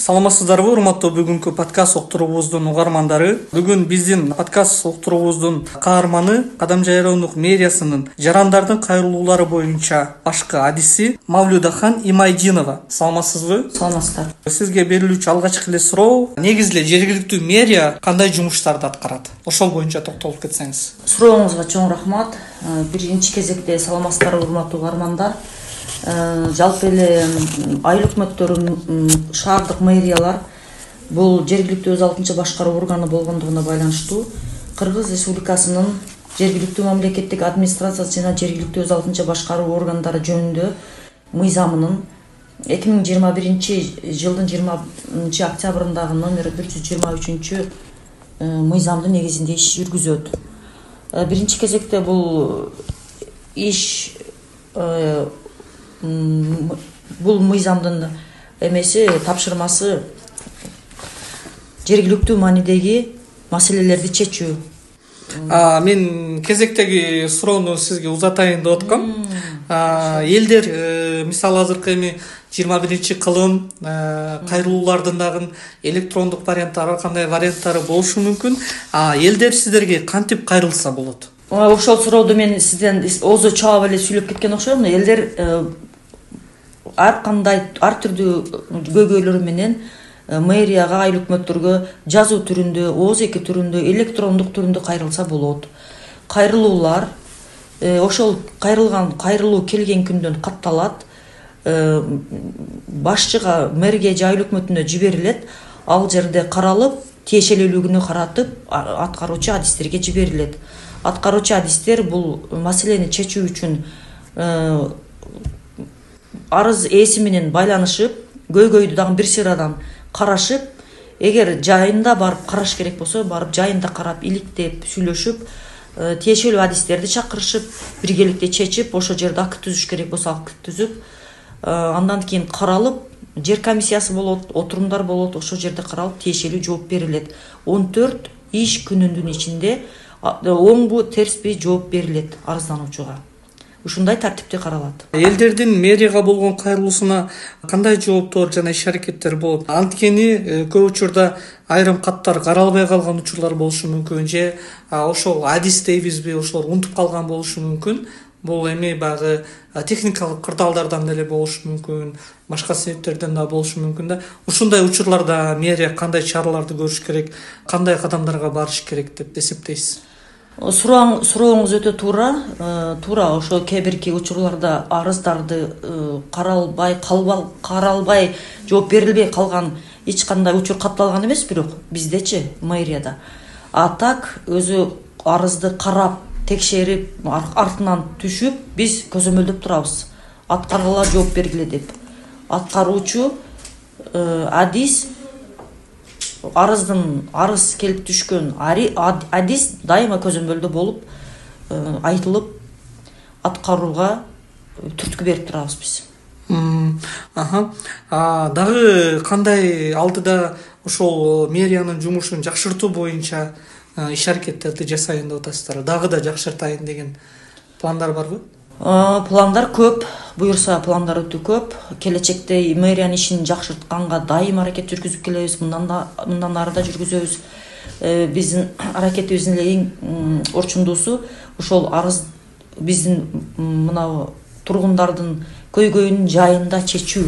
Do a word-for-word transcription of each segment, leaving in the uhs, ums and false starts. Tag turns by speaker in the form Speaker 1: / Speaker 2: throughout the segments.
Speaker 1: Саламатсыздарбы, урматтуу бүгүнкү подкаст уктуруубуздун угармандары. Бүгүн биздин подкаст уктуруубуздун каарманы Кадам Жайроондук мэриясынын жарандардын кайрылуулары боюнча башкы адиси Мавлюдахан Имайдинова. Саламатсызбы?
Speaker 2: Саламатсыздар.
Speaker 1: Сизге берилүүчү алгачкы эле суроо, негизи эле жергиликтүү мэрия кандай жумуштарды аткарат? Ошол боюнча токтолуп кетсеңиз.
Speaker 2: Сурооңузга чоң рахмат. Биринчи кезекте саламатсыздар, урматтуу угармандар. Жалпы эле айыл өкмөттөрү, шаардык мэриялар бул жергиликтүү өз алтынча башкаруу органы болгондугуна байланыштуу Кыргыз Республикасынын жергиликтүү мамлекеттик администрациясы жана жергиликтүү өз алтынча башкаруу органдары жөнүндө мыйзамынын эки миң жыйырма биринчи жылдын жыйырманчы октябрындагы номер бир жүз жыйырма үчүнчү мыйзамдын негизинде иш жүргүзөт. Биринчи кезекте бул иш бул мыйзамдын эмеси тапшырмасы жергиликтүү маанидеги маселелерди чечүү.
Speaker 1: Мен кезектеги суроону сизге узатайын деп аткам. Элдер мисалы азыркы эми жыйырма биринчи кылым кайрылуулардын дагы электрондук варианттары, ар кандай варианттары болушу мүмкүн. Элдер сиздерге кантип кайрылса болот?
Speaker 2: Ошол суроодо мен сизден озо чаап эле сүйлөп кеткен окшойм. Элдер ар кандай ар түрдүү көйгөйлөрү менен мэрияга, айыл өкмөттөргө жазуу түрүндө, ооз эки түрүндө, электрондук түрүндө кайрылса болот. Кайрылуулар ошол кайрылган кайрылуу келген күндөн катталат, башчыга, мэрге же айыл өкмөтүнө жиберилет. Ал жерде каралып, тиешелүүлүгүнө каратып, аткаруучу адистерге жиберилет. Аткаруучу адистер бул маселени чечүү үчүн арыз ээси менен байланышып, көйгөйдү дагы бир сырадан карашып, эгер жайында барып караш керек болсо, барып жайында карап, иликтеп, сүйлөшүп, тиешелүү адистерди чакырышып, биргеликте чечип, ошол жерде акт түзүш керек болсо акт түзүп, андан кийин каралып, жер комиссиясы болот, отурумдар болот, ошол жерде каралып, тиешелүү жооп берилет. он төрт иш күнүнүн ичинде оңбу, терсби жооп берилет арыздануучуга. Ушундай тартипте каралат.
Speaker 1: Элдердин мэрияга болгон кайрылуусуна кандай жооптор жана иш-аракеттер болот? Анткени көп учурда айрым каттар каралбай калган учурлар болушу мүмкүн, же ошол адис дейбизби, ошолор унутуп калган болушу мүмкүн. Бул эми баягы техникалык кырдаалдардан деле болушу мүмкүн, башка себептерден да болушу мүмкүн да. Ушундай учурларда мэрия кандай чараларды көрүш керек, кандай кадамдарга барыш керек деп эсептейсиз?
Speaker 2: Сурооңуз өтө туура. Туура, ошо кээ бирки учурларда арыздарды каралбай, каралбай, жооп берилбей калган эч кандай учур катталган эмес, бирок биздечи мэрияда. А так өзү арызды карап, текшерип, артынан түшүп, биз көзөмөлдөп турабыз. Аткаргыла, жооп бергиле деп. Аткаруучу адис арыздын арыз келип түшкөн адис дайыма көзөмөлдө болуп, айтылып, аткарууга түрткү берип турабыз биз.
Speaker 1: Аха. Дагы кандай алдыда ошол мэриянын жумушун жакшыртуу боюнча иш-аракеттерди жасайын деп атасыздар? Дагы да жакшыртайын деген пландар барбы?
Speaker 2: Пландар көп, буюрса пландар өтө көп. Келечекте мэриянын ишин жакшыртканга дайым аракет жүргүзүп келебиз, мындан ары да жүргүзөбүз. Биздин аракетибиздин эле эң орчундуусу ошол арыз биздин мына тургундардын көйгөйүн жайында чечүү.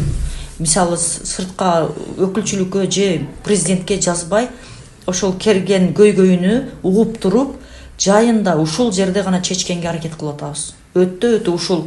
Speaker 2: Мисалы, сыртка өкүлчүлүккө же президентке жазбай, ошол келген көйгөйүнү угуп туруп жайында ушул жерде гана чечкенге аракет кылып атабыз. Өтө өтө ушул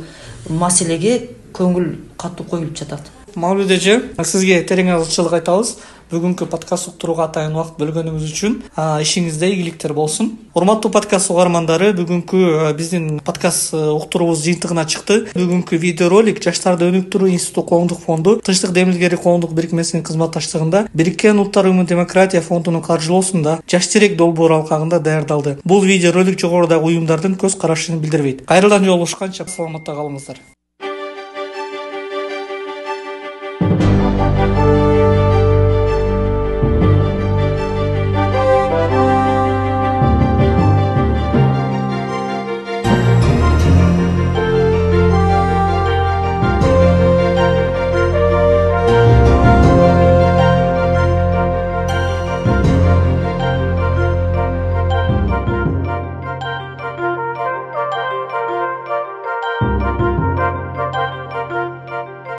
Speaker 2: маселеге көңүл катуу коюлуп жатат.
Speaker 1: Мавлид эже, сизге терең алгычылык айтабыз. Бүгүнкү подкаст уктурууга атайын убакыт бөлгөнүңүз үчүн. Ишиңизде ийгиликтер болсун. Урматтуу подкаст угармандары, бүгүнкү биздин подкаст уктуруубуз жыйынтыгына чыкты. Бүгүнкү видеоролик Жаштарды өнүктүрүү институту коомдук фонду Тынчтык Демилгери коомдук бирикмесинин кызматташтыгында Бириккен Улуттар Уюму Демократия фондунун каржылоосунда Жаш терек долбоору алкагында даярдалды. Бул видеоролик жогорудагы уюмдардын көз карашын билдирбейт. Кайрадан жолугушканча саламатта калыңыздар.